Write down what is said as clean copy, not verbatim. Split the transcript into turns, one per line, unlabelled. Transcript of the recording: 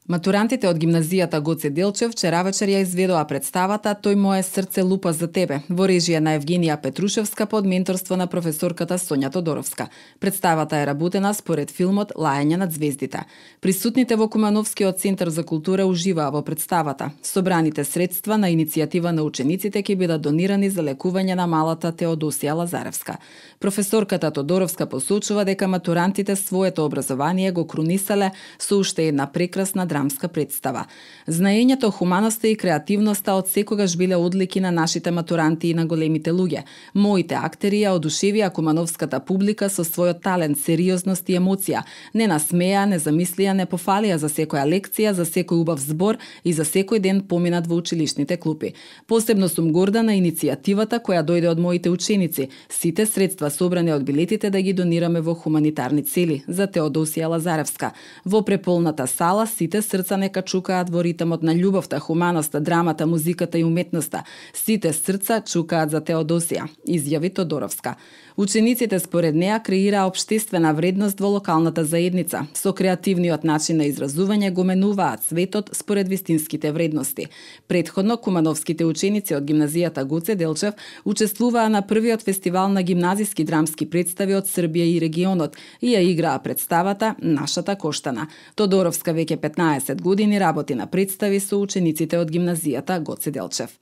Матурантите од гимназијата Гоце Делчев вчера вечер ја изведоа представата "Тој мое срце лупа за тебе" во режија на Евгенија Петрушевска под менторство на професорката Сонја Тодоровска. Представата е работена според филмот Лајање над звездите. Присутните во Кумановскиот центар за култура уживаа во представата. Собраните средства на иницијатива на учениците ќе бидат донирани за лекување на малата Теодосија Лазаревска. Професорката Тодоровска посочува дека матурантите своето образование го крунисале со уште една прекрасна драмска представа. Знаењето, хуманоста и креативноста од секогаш биле одлики на нашите матуранти и на големите луѓе. Моите актери ја одушевија кумановската публика со својот талент, сериозност и емоција. Не насмеа, не замислија, не пофалија за секоја лекција, за секој убав збор и за секој ден поминат во училишните клупи. Посебно сум горда на иницијативата која дојде од моите ученици. Сите средства собрани од билетите да ги донираме во хуманитарни цели за Теодосија Лазаревска. Во преполната сала сите срца нека чукаат во ритмот на љубовта, хуманоста, драмата, музиката и уметноста. Сите срца чукаат за Теодосија, изјави Тодоровска. Учениците според неа креираа општествена вредност во локалната заедница. Со креативниот начин на изразување го менуваат светот според вистинските вредности. Претходно, кумановските ученици од гимназијата Гоце Делчев учествуваа на првиот фестивал на гимназиски драмски представи од Србија и регионот и ја играа представата "Нашата Коштана". Тодоровска веќе 15 години работи на представи со учениците од гимназијата Гоце Делчев.